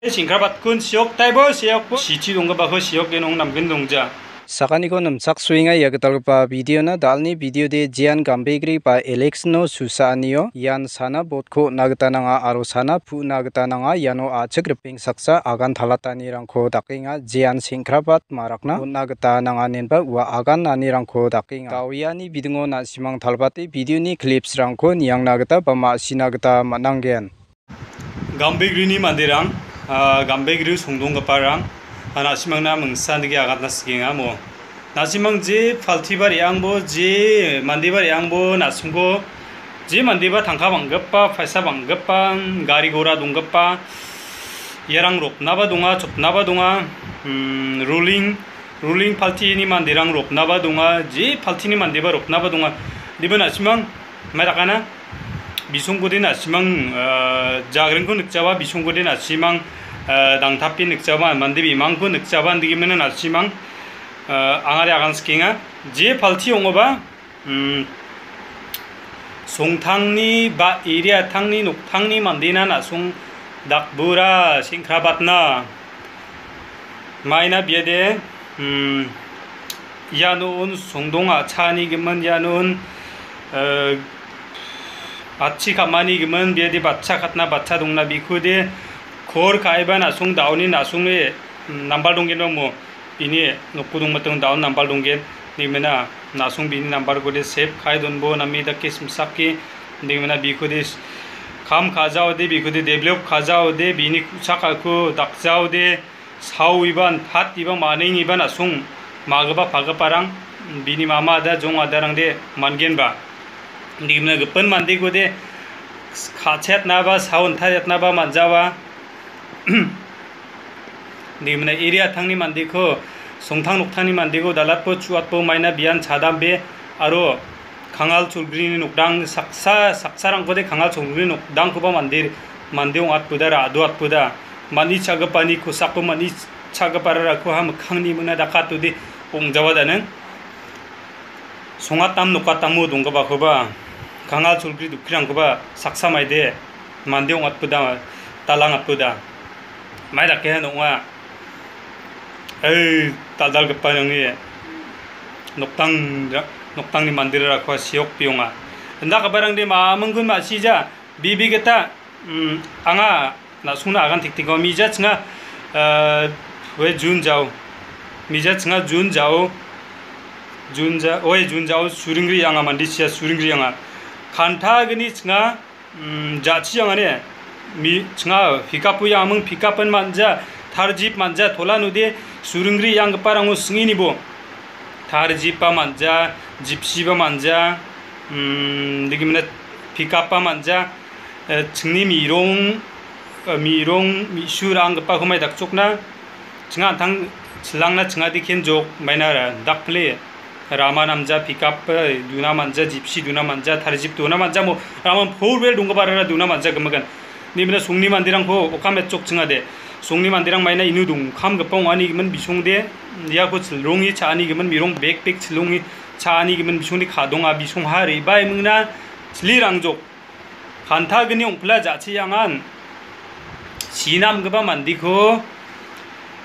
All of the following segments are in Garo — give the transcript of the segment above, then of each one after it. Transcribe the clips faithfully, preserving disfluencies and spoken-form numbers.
Singkrabatkun siok taibo siokbo sichi donggipako siok genong namgin dongja. Sakaniko nimchaksoenga ia gitalgipa videona. Dalni videode Jean Gambegre ba Alexno susaanio ian sana botko on·a gita nanga aro sana pu·na gita nanga. Iano a·chik ripeng saksa agan talatanirangko dakenga. Jean sengkrabat marakna on·a gita nanga inenba ua agan nanirangko dakenga. Dawiani bidingo na·simang talbate videoni clipsrangko niangna gita ba ma·sina gita man·angen. Gambegrini manderang, ah, Gambegri songdonggiparang, ah, na·simangna mingsa dake agatna sikenga mo. Na·simang je paltiba re·angbo, je mandeba re·angbo, na·songko je mandeba tangka bang·gipa, paisa bang·gipa, gari gora donggipa, iarang roknaba donga, chopnaba donga, mm, ruling, ruling paltini manderang roknaba donga, je paltini mandeba roknaba donga. Diba na·simang, mai dakana? Bisongkode na·simang, ah, jagringko nikjaba, bisongkode na·simang, ah, dangtape nikjaba, mande bimangko nikjaba, indegimena na·simang, ah, angade agan sikenga. Je palti ong·oba, mm, songtangni ba area tangni noktangni mandena na·song dakbura sengkrabatna. Maina biade, mm, iano un songdong a·chani gimin, iano un, eh, atchi ka·mani gimin, biade batcha katna batcha dongna bikode kor ka·eba na·song daoni na·songe, mm, nambal donggen dongmo. Bini nokko dongmatong daon nambal donggen. Nimena na·song bini nambalkode save ka·e donbo name dake simsake. Nimena bikode s-, kam ka·jaode, bikode develop ka·jaode, bini ku·chakako dakjaode, saoiban, tatiba, manengiban na·song magipa pagiparang bini mama ada, jong adarangde mangenba. Nimena gipin mandekode ka·chetnaba, saon tariatnaba man·jawa. Nimena area tangni mandeko, songtang noktangni mandeko, dalatbo, chuatbo, maina bian chadambe, aro Kangal Cholgrini nokdang saksa, saksarangkode Kangal Cholgrini nokdangkoba mande, mande ong·atboda, ra·do atboda. Mani chagipani kosako mani chagipararako ha mikkangni mingna dakatode ong·jawa daning. Songatam nokatamo donggipakoba, Kangal Cholgri dokkirangkoba saksa maide mande ong·atboda, dalang atboda. Mai dakehan ong·a. Ei, dal·dalgipa nangni noktang, noktangni manderarako siok bionga. Indakabarangde maminggun ma·sija, bibi gita, mm, anga na·songna agan tektekon mija chinga, eh, we Jun jao. Mija chinga Jun jao. Jun ja-, oe Jun jao suringri anga mandisia suringri anga. Kanta gni chinga, mm, ja·chi angane. Mi-, chinga pikapo iaming pikapen manja, tarjip manja, tola nude suringri ianggiparango singinibo. Tarjipa manja, jipsiba manja, mm, degimina pikapa manja, eh, chingni mirong, eh, mirong, mi·su ra·anggipako mai dakchokna, chinga an·tang chilangna chingade kenjok maina ra-, dakpile rama namja, pikap, eh, duna manja, jipsi duna manja, tarjip duna manja, mo raman four wheel donggiparara duna manja gimikan. Nimina songni manderangko okam etchok chingade. Songni manderang maina inu dongkamgipa ong·ani gimin bisongde, iako chilrongi cha·ani gimin mirong bek bek chilrongi cha·ani gimin bisongde kadonga bisongha rebaimingna chili rangjok. Kantagni ong·pila ja·chiangan sinamgipa mandeko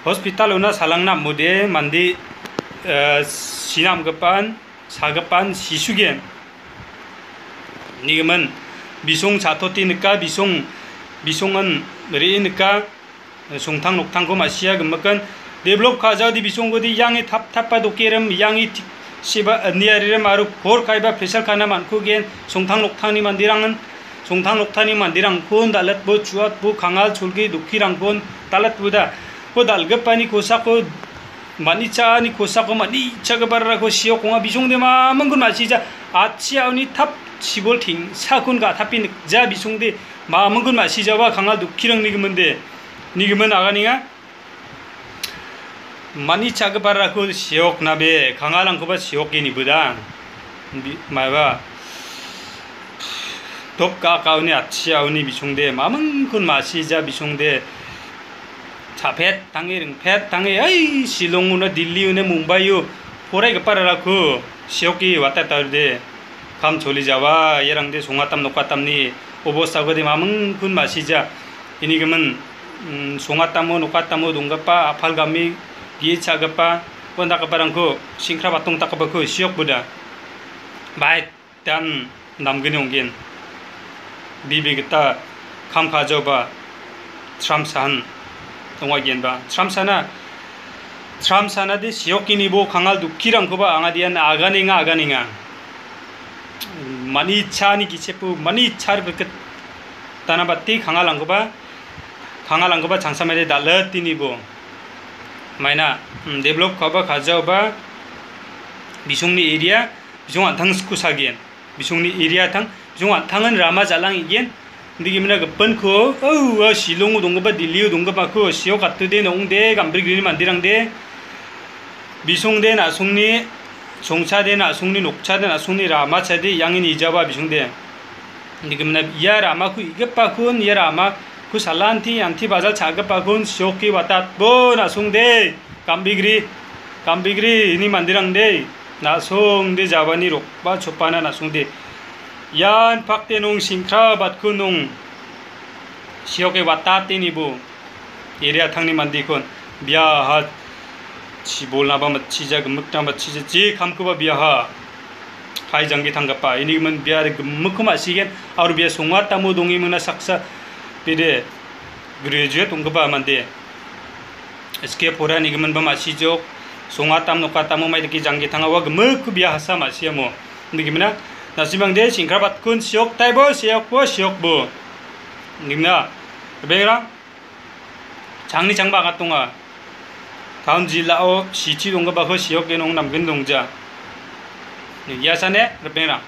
hospitalona salangna am·ode mande, eh, sinamgipan, sagipan sisugen. Nigimin bisong chatoti nika, bisong, bisongan re·e nika. Songtang noktangko ma·sia gimikan. Develop ka·jaode bisongode iange tap tapa dokerim, iange tik seba, eh, niaririm aro por kaiba pressure kana man·kugen. Songtang noktangni manderangan, songtang noktangni manderangkon dal·atbo, chuatbo, kangal cholge dokkirangkon dal·atboda. Bo dal·gipani kosako, manichaani kosako, manichagipararako siok ong·a bisongde mamingkon ma·sija. Atchiaoni tap chibol tengsakon ga·tape nikja bisongde mamingkon ma·sijaba kangal dokkirangni giminde. Nigimin aganenga. Manichagipararako sioknabe, kangalrangkoba sioke nibuda. Bi-, maiba. Dopka kauni atchiaoni bisongde, mamingkon ma·sija bisongde. Cha·pet tange, ringpet tange, ai, Shillong-ona, Delhi-ona, Mumbai-o, poraigipararako sioke watataude. Kam choli jawa, iarangde songatam nokatamni obostakode mamingkon ma·sija. Ini gimin mm, songatamo, nokatamo donggipa, apalgami, ge·e cha·gipa, uandakgiparangko, singkrap atongtakgipako siokboda. Baik. Dan namgni ong·gen. Bibi gita kam ka·jaoba tramsahan ong·aigenba. Tramsana, tramsana de siokinibo kangal dokkirangkoba anga dian aganenga, aganenga. Mani chani gichepo, mani char berket tanabate kangalangkoba, kangalangkoba changsamade dal·atinibo. Maina, mm, develop ka·ba ka·jaoba bisongni area, bisong an·tang sku sagen. Bisongni area tang, bisong an·tangan rama jalang igen. Indi gimina gipinko, oh, ua Shillongo donggipa, Delhio donggipako, siok atode, nongde, Gambrigrini manderangde, bisongde, na·songni, songchade, na·songni, nokchade, na·songni, ramachade, iange nijaba bisongde. Indi gimina ia ramako igipakon, ia ramako salanti, anti bajal cha·gipakon, sioke watatbo, na·songde. Gambigri, Gambigri, ini manderangde, na·songde jabani rokba chopana na·songde. Ian pakde nong singkra batko nong sioke watate nibo. Area tangni mandekon, biaha chibolnaba matchija, gimikna matchija, je kamkoba biaha. Kai jangge tanggipa, ini gimin biare gimikko ma·sigen, aro bia songatamo donge mingna saksa, bede graduate ong·gipa mande. S K porani giminba ma·sijok, songatam nokatamo mai dake jangge tanga ua gimikko bia hasa ma·siamo. Indi gimina, nasimangde singkrabatkun siok taibo, siokbo, siokbo. Indi gimina, bengrang, changni changba angat donga. Town jilao city donggipako siok genong namgin dongja. Ia sane, ripengrang.